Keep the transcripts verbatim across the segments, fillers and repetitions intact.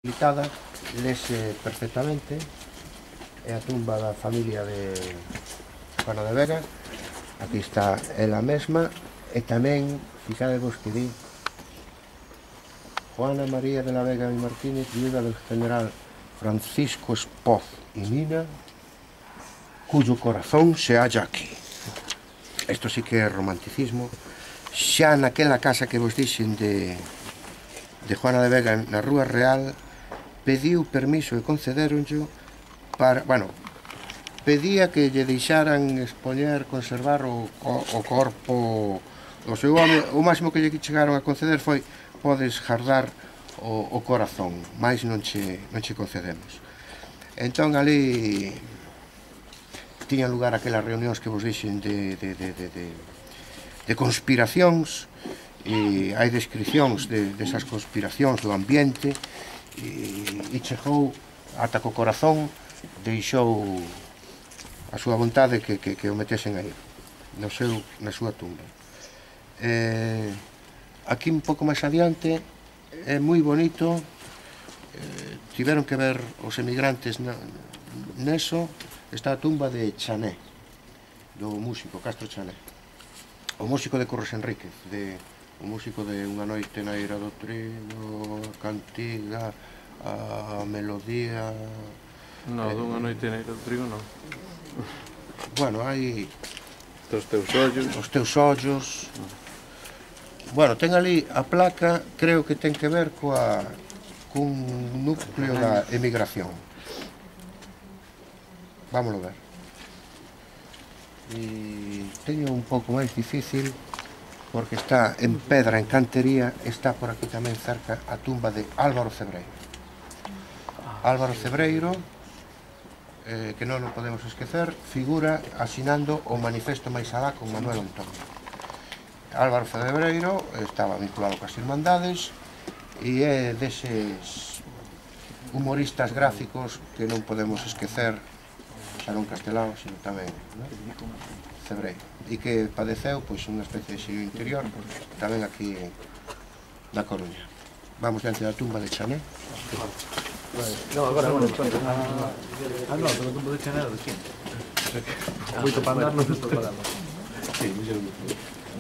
Habitada, lese perfectamente, é a tumba da familia de Juana de Vega. Aquí está ela mesma, e tamén, fixadevos que di Juana María de la Vega y Martínez, viuda del general Francisco Espoz y Mina, cuyo corazón se halla aquí. Isto sí que é romanticismo. Xa naquela casa que vos dixen de, de Juana de Vega na Rúa Real, pediu permiso e concederonllo para, bueno, pedía que lle deixaran expoñer, conservar o, o, o corpo do seu home. O máximo que lle chegaron a conceder foi: podes jardar o, o corazón, máis non che, non che concedemos. Entón ali tiñan lugar aquelas reunións que vos dixen de, de, de, de, de, de conspiracións, e hai descripcións de, desas conspiracións do ambiente, e, e chegou ata co corazón, deixou a súa vontade que, que, que o metesen aí no seu, na súa tumba. Eh, aquí un pouco máis adiante é moi bonito, eh, tiveron que ver os emigrantes na, neso. Está a tumba de Chané, do músico Castro Chané, o músico de Curros Enríquez, de, o músico de Unha noite na eira do trigo, a cantiga, a melodía. No, eh, dunha noite na eira do trigo non. Bueno, hai Os teus ollos. Os teus ollos. Bueno, ten ali a placa, creo que ten que ver coa cun núcleo da emigración. Vámoslo ver. E teño un pouco máis difícil porque está en pedra, en cantería. Está por aquí tamén cerca a tumba de Álvaro Cebreiro. Álvaro Cebreiro, eh, que non o podemos esquecer, figura asinando o manifesto máis alá con Manuel Antón. Álvaro Cebreiro estaba vinculado coas Irmandades e é deses humoristas gráficos que non podemos esquecer, xa non Castelao, sino tamén, ¿no? Cebreiro, e que padeceu pois unha especie de exilio interior tamén aquí na Coruña. Vamos diante da tumba de Chané. No, agora non. Ah, no, pero a tumba de Chané era de quien? Moito para andar non se está parando. Sí, me xeron dicir.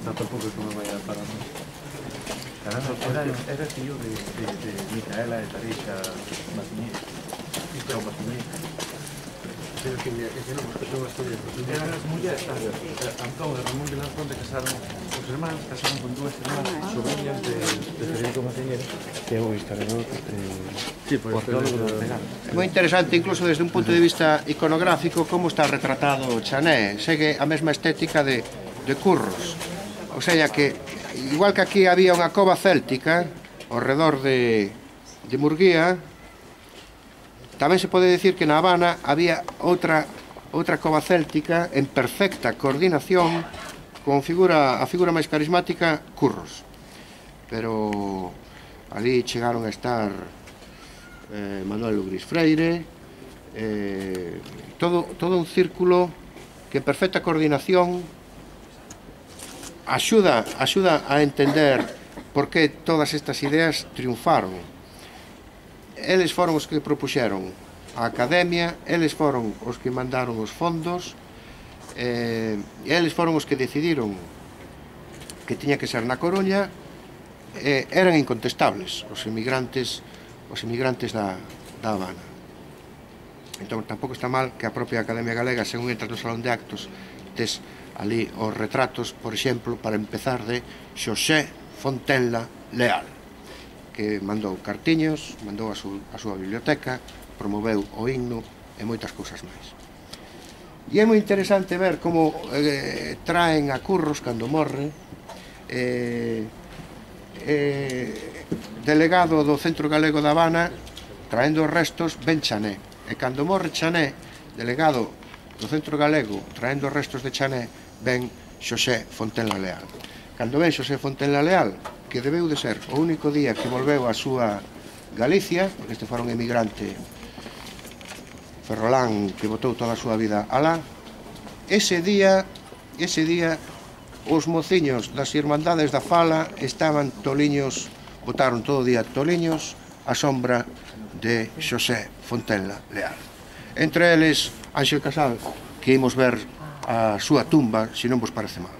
No, tampouco é que me vai a parar. Era, era fillo de, de, de Micaela e Tarisha Masinier. Chao Masinier. Pero que ese non, porque son as historias. Eran as mulleres, Antón e Ramón de Lanzón, de casaron os irmáns, casaron con dúas irmás sobrinhas de, de Federico Masinier, que é un historiador eh, sí, arqueólogo do Regal. É moi interesante, incluso desde un punto de vista iconográfico, como está retratado Chané. Segue a mesma estética de, de Curros. O sea que, igual que aquí había unha cova céltica ao redor de, de Murguía, tamén se pode decir que na Habana había outra outra cova céltica en perfecta coordinación con figura, a figura máis carismática, Curros. Pero ali chegaron a estar eh, Manuel Lugrís Freire, eh, todo, todo un círculo que en perfecta coordinación axuda, axuda a entender por que todas estas ideas triunfaron. Eles foron os que propuxeron a academia, eles foron os que mandaron os fondos, eh, eles foron os que decidiron que tiña que ser na Coruña. Eh, eran incontestables os emigrantes, os emigrantes da, da Habana. Entón tampouco está mal que a propia Academia Galega, según entras no salón de actos, tes ali os retratos, por exemplo, para empezar, de Xosé Fontenla Leal, que mandou cartiños, mandou a, su, a súa biblioteca, promoveu o himno e moitas cousas máis. E é moi interesante ver como eh, traen a Curros cando morre, eh, eh, delegado do Centro Galego da Habana, traendo os restos, ben Chané. E cando morre Chané, delegado do Centro Galego, traendo os restos de Chané, ben Xosé Fontenla Leal. Cando ven Xosé Fontenla Leal, que debeu de ser o único día que volveu a súa Galicia, porque este fora un emigrante ferrolán que botou toda a súa vida alá, ese día, ese día, os mociños das Irmandades da Fala estaban toliños, botaron todo o día toliños á sombra de Xosé Fontenla Leal. Entre eles, Ángel Casal, que imos ver a súa tumba, se non vos parece mal.